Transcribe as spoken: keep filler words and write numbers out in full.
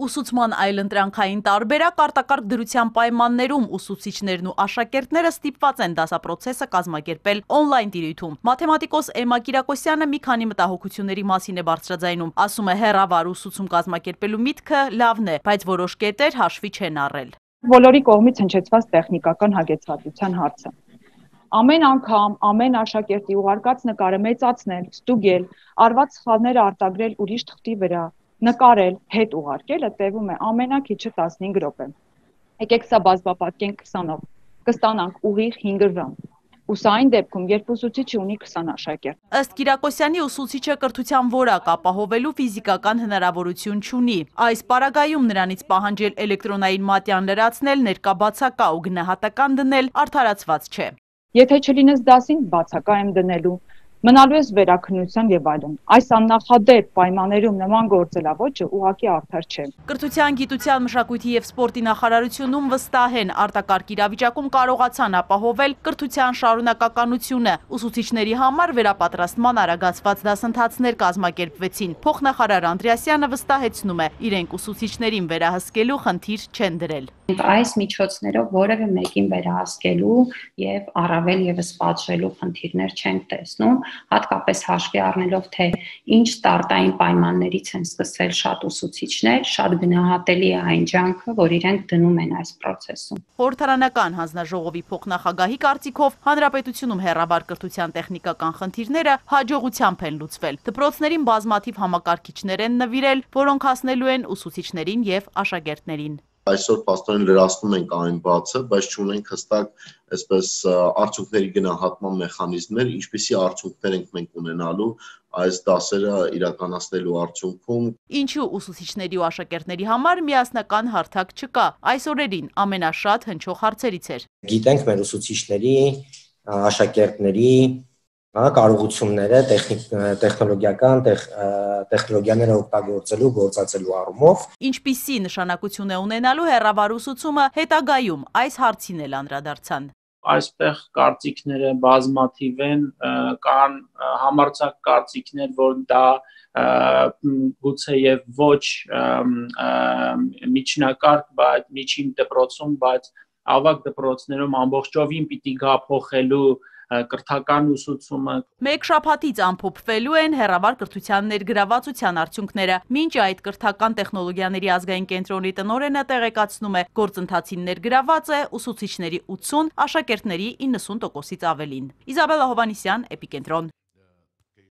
Ուսուցման այլընտրանքային տարբերակ արտակարգ դրության պայմաններում ուսուցիչներն ու աշակերտները ստիպված են դասապրոցեսը կազմակերպել օնլայն տիրույթում։ Մաթեմատիկոս Էմմա Կիրակոսյանը մի քանի մտահոգությունների մասին է բարձրաձայնում, ասում է հեռավար ուսուցում կազմակերպելու միտքը լավն է, բայց որոշ կետեր հաշվի չեն առել։ Բոլորի կողմից հնչեցված տեխնիկական հագեցվածության հարցը։ Ամեն անգամ, ամեն աշակերտի ուղարկած նկարը մեծացնել, ստուգել, արված սխալները արտագրել ուրիշ թղթի վրա, նկարել, հետ ուղարկելը տևում է ամենակիչը տասնհինգ րոպե։ Եկեք սա բազմապատկենք քսանով, կստանանք ուղիղ հինգ ժամ։ Ու սա այն դեպքում, երբ ուսուցիչը ունի քսան աշակերտ։ Ըստ Կիրակոսյանի ուսուցիչը կրթության որակ ապահովելու ֆիզիկական հնարավորություն չունի։ Այս պարագայում նրանից պահանջել էլեկտրոնային մատյան լրացնել, ներկա բացակա ու գնահատական դնել արդարացված չէ։ Եթե չլինես դասին, բացակա եմ դնելու, մնալու ես վերաքննության եւ այլն։ Այս աննախադեպ պայմաններում նման գործելավոճը ուղղակի արդար չէ։ Կրթության, գիտության, մշակույթի եւ սպորտի նախարարությունում վստահ են արտակարգ իրավիճակում կարողացան ապահովել կրթության շարունակականությունը։ Ուսուցիչների համար վերապատրաստման արագացված դասընթացներ կազմակերպվեցին։ Փոխնախարար Անդրեասյանը վստահեցնում է, իրենք ուսուցիչներին վերահսկելու խնդիր չեն դրել։ Այս միջոցներով որևէ մեկին վերահսկելու եւ առավել եւս պատժելու խնդիրներ չենք տեսնում, հատկապես հաշվի առնելով, թե ինչ ստարտային պայմաններից են սկսել շատ ուսուցիչներ, շատ գնահատելի է այն ջանքը, որ իրենք դնում են այս process-ում։ Խորհրդարանական հանձնաժողովի փոխնախագահի կարծիքով հանրապետությունում հեռավար կրթության տեխնիկական խնդիրները հաջողությամբ են լուծվել։ Դպրոցներին բազմաթիվ համակարգիչներ են նվիրել, որոնք հասնելու են ուսուցիչներին եւ աշակերտներին։ Այսօր պաստորեն լրացնում ենք այն բացը, բայց չունենք հստակ այսպես արդյունքների գնահատման մեխանիզմներ, ինչպիսի արդյունքներ ենք մենք ունենալու այս դասերը իրականացնելու արդյունքում։ Ինչու ուսուցիչների ու աշակերտների համար միասնական հարթակ չկա, այս օրերին ամենաշատ հնչող հարցերից էր։ Գիտենք մեր ուսուցիչների, աշակերտների կարողությունները տեխնոլոգիական տեխնոլոգիաները օգտագործելու, գործածելու առումով։ Ինչպիսի նշանակություն է ունենալու հեռավար ուսուցումը հետագայում, այս հարցին էլ անդրադարձան։ Այստեղ կարծիքները բազմաթիվ են, կան համարձակ կարծիքներ, որ դա գուցե եւ ոչ միջնակարգ, բայց միջին դպրոցում, բայց ավագ դպրոցներում ամբողջովին պիտի գա փոխելու կրթական ուսուցումը։ Մեկ շաբաթից ամփոփվելու են հեռավար կրթության ներգրավվածության արդյունքները։ Մինչ այդ կրթական տեխնոլոգիաների ազգային կենտրոնի տնօրենը տեղեկացնում է, գործընթացին ներգրաված է ուսուցիչների ութսուն, աշակերտների իննսուն տոկոսից ավելին։ Իզաբելլա Հովհաննիսյան, Էպիկենտրոն։